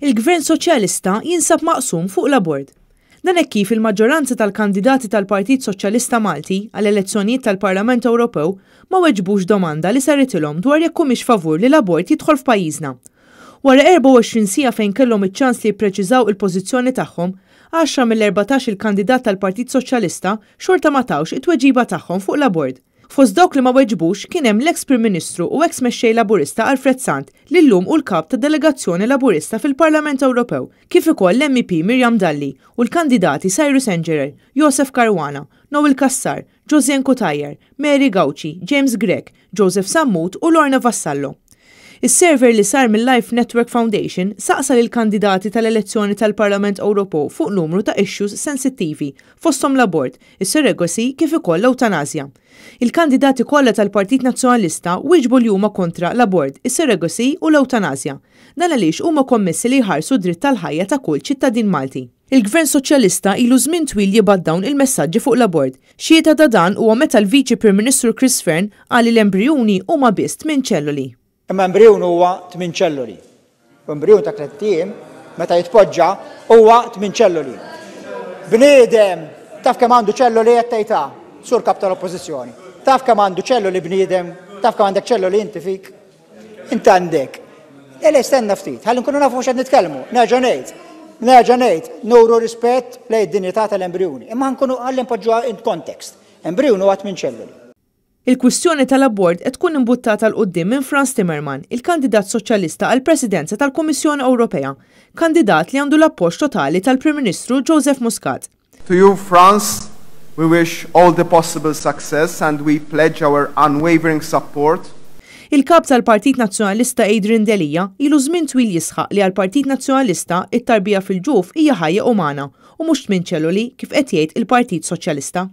Il-Gvern Soċjalista jinsab maqsum fuq l-abort. Dan hekk kif il-maġġoranza tal-kandidati tal-Partit Soċjalista Malti għall-elezzjonijiet tal-Parlament Ewropew ma weġbux domanda li saritilhom dwar jekk humiex favur li l-abort jidħol f'pajjiżna. Wara 24 siegħa fejn kellhom iċ-ċans li jippreċiżaw il-pożizzjoni tagħhom, għaxra mill-erbatax il-kandidat tal-Partit Soċjalista xorta ma tawx it-tweġiba tagħhom fuq l-abort. Fost dawk li ma weġbux kien hemm l-eks Prim Ministru u eks Mexxej Laburista Alfred Sant li llum hu l-Kap tad-Delegazzjoni Laburista fil-Parlament Ewropew, kif ukoll l-MEP Miriam Dalli u l-kandidati Cyrus Engerer, Josef Caruana, Noel Cassar, Josianne Cutajar, Mary Gauci, James Grech, Joseph Sammut u Lorna Vassallo. Is-survey li sar mil-Life Network Foundation saqsa lill-kandidati tal-elezzjoni tal-Parlament Ewropew fuq numru ta' issues sensittivi, fosthom l-abort, is-surrogacy kif ukoll l-ewtanasja. Il-kandidati kollha tal-Partit Nazzjonalista wieġbu li huma kontra l-abort, is-surrogacy u l-ewtanasja. Dan għaliex huma kommessi li jħarsu d-dritt tal-ħajja ta' kull ċittadin Malti. Il-Gvern Soċjalista ilu żmien twil jibgħat dawn il-messaġġi fuq l-abort. Xhieda ta' dan huwa meta l-Viċi Prim Ministru Chris Fearne qal li l-embrijuni huma biss tmien ċelloli. Imma embrijun huwa tmien ċelloli. U embrijun ta' tlett ijiem, meta jitpoġġa, huwa tmien ċelloli. Bniedem, taf kemm għandu ċelloli qed tgħid ha, Sur Kap tal-Oppożizzjoni? Taf kemm għandu ċelloli bniedem? Taf kemm għandek ċelloli inti fik? Int għandek. Le, le, stenna ftit, ħalli nkunu nafu x'qed nitkellmu. Nerġa' ngħid, nerġa' ngħid, nuru rispett lejn id-dinjità tal-embrijuni. Imma nkunu ħalli npoġġuha in context. Embrijun huwa tmien ċelluli. Il-kwistjoni tal-abort qed tkun imbuttata 'l quddiem minn Frans Timmerman, il-kandidat Soċjalista għall-Presidenza tal-Kummissjoni Ewropea, kandidat li għandu l-appoġġ totali tal-Prim Ministru Joseph Muscat. To you, Frans, we wish all the possible success and we pledge our unwavering support. Il-Kap tal-Partit Nazzjonalista Adrian Delia ilu żmien twil jisħaq li għall-Partit Nazzjonalista it-tarbija fil-ġuf hija ħajja umana u mhux tmien ċelloli kif qed jgħid il-Partit Soċjalista.